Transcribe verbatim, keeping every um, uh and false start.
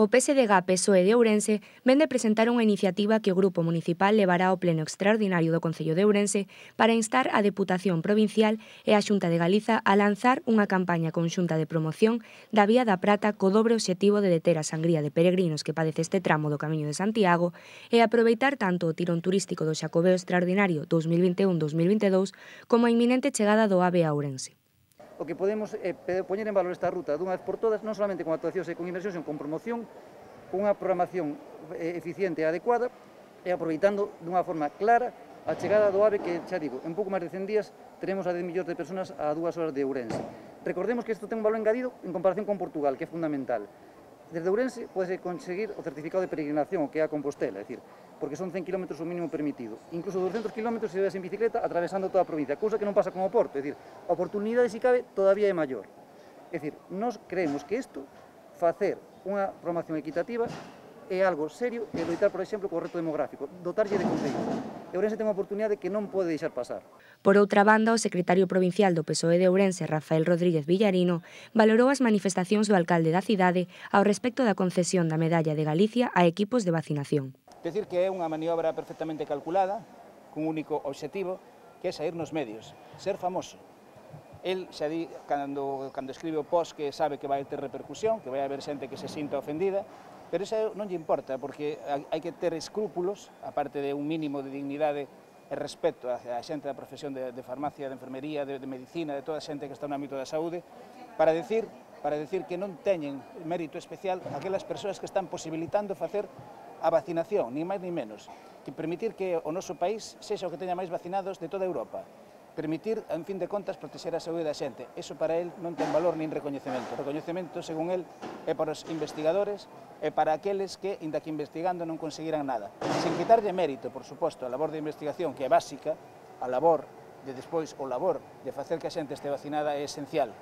O P S D G P S O E de Ourense vén de presentar unha iniciativa que o Grupo Municipal levará ao Pleno Extraordinario do Concello de Ourense para instar a Deputación Provincial e a Xunta de Galiza a lanzar unha campaña conxunta de promoción da Vía da Prata co dobre obxectivo de deter a sangría de peregrinos que padece este tramo do Camiño de Santiago e aproveitar tanto o tirón turístico do Xacobeo Extraordinario dos mil vinte e un dos mil vinte e dous como a inminente chegada do AVE a Ourense. O que podemos é poñer en valor esta ruta dunha vez por todas, non solamente con actuacións e con inversións, senón con promoción, con unha programación eficiente e adecuada e aproveitando dunha forma clara a chegada do AVE que, xa digo, en pouco máis de cen días teremos a dez millóns de personas a dúas horas de Ourense. Recordemos que isto ten un valor engadido en comparación con Portugal, que é fundamental. Desde Ourense pode conseguir o certificado de peregrinación, o que é a Compostela, é dicir, porque son cen kilómetros o mínimo permitido. Incluso doscientos kilómetros se ves en bicicleta atravesando toda a provincia, cousa que non pasa con o Porto, é dicir, a oportunidade, se cabe, todavía é maior. É dicir, nós creemos que isto, facer unha programación equitativa, é algo serio e loitar, por exemplo, co reto demográfico, dotarlle de concellos. E Ourense ten unha oportunidade que non pode deixar pasar. Por outra banda, o secretario provincial do P S O E de Ourense, Rafael Rodríguez Villarino, valorou as manifestacións do alcalde da cidade ao respecto da concesión da Medalla de Galicia a equipos de vacinación. Decir que é unha maniobra perfectamente calculada, cun único obxectivo, que é sair nos medios, ser famoso. El xa di, cando, cando escribe o post, que sabe que vai ter repercusión, que vai haber xente que se sinta ofendida, pero iso non lle importa, porque hai que ter escrúpulos, aparte de un mínimo de dignidade e respeto a xente da profesión de, de farmacia, de enfermería, de, de medicina, de toda a xente que está no ámbito da saúde, para decir, para decir que non teñen mérito especial aquelas persoas que están posibilitando facer a vacinación, ni máis ni menos, que permitir que o noso país sexa o que teña máis vacinados de toda Europa. Permitir, en fin de contas, protexer a saúde da xente. Eso para él non ten valor nin recoñecemento. O recoñecemento, según él, é para os investigadores e para aqueles que, inda que investigando, non conseguiran nada. Sin quitarlle mérito, por suposto, a labor de investigación, que é básica, a labor de despois, o labor de facer que a xente este vacinada é esencial.